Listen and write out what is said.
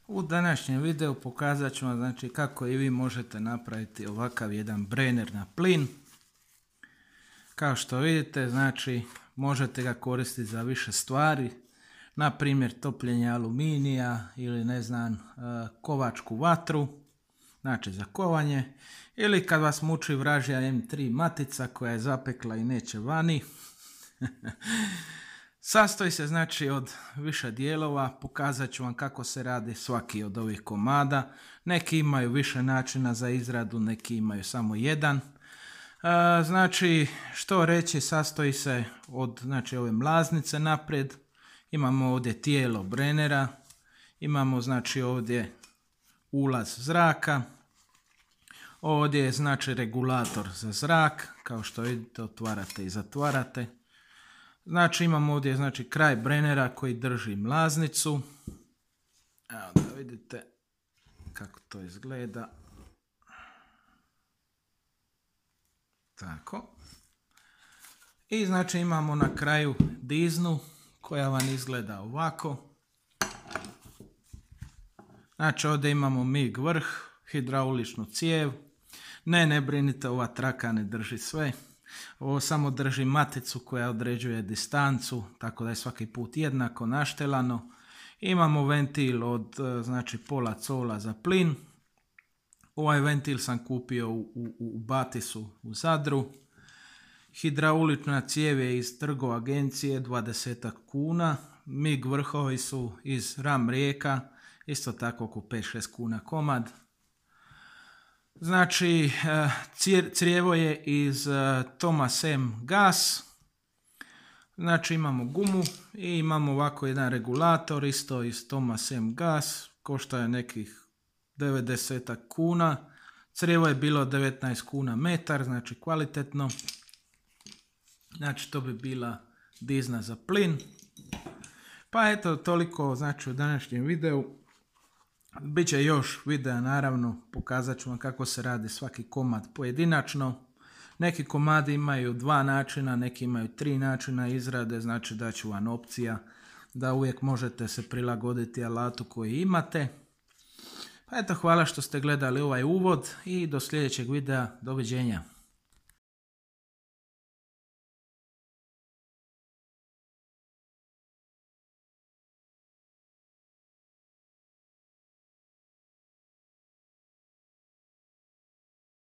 U današnjem videu pokazat ću vam znači, kako i vi možete napraviti ovakav jedan brener na plin. Kao što vidite, znači, možete ga koristiti za više stvari, na primjer topljenje aluminija ili ne znam, kovačku vatru, znači za kovanje, ili kad vas muči vražja M3 matica koja je zapekla i neće vani. Sastoji se znači od više dijelova, pokazat ću vam kako se radi svaki od ovih komada. Neki imaju više načina za izradu, neki imaju samo jedan. Znači, što reći, sastoji se od znači, ove mlaznice naprijed. Imamo ovdje tijelo brenera, imamo znači ovdje ulaz zraka. Ovdje je znači regulator za zrak, kao što vidite otvarate i zatvarate. Znači imamo ovdje znači kraj brenera koji drži mlaznicu. Evo da vidite kako to izgleda. Tako. I znači imamo na kraju diznu koja vam izgleda ovako. Znači ovdje imamo mig vrh, hidrauličnu cijev. Ne brinite, ova traka ne drži sve. Ovo samo drži maticu koja određuje distancu, tako da je svaki put jednako naštelano. Imamo ventil od znači pola cola za plin. Ovaj ventil sam kupio u Batisu u Zadru. Hidraulična cijev je iz Trgo agencije 20 kuna. MIG vrhovi su iz Ram Rijeka, isto tako oko 5-6 kuna komad. Znači, crijevo je iz Thomas M gas. Znači imamo gumu i imamo ovako jedan regulator isto iz Thomas M gas. Košta je nekih 90 kuna. Crijevo je bilo 19 kuna metar, znači kvalitetno. Znači to bi bila dizna za plin. Pa eto, toliko znači u današnjem videu. Biće još videa naravno, pokazat ću vam kako se radi svaki komad pojedinačno. Neki komadi imaju 2 načina, neki imaju 3 načina izrade, znači da ću vam opcija da uvijek možete se prilagoditi alatu koji imate. Pa eto, hvala što ste gledali ovaj uvod i do sljedećeg videa, doviđenja.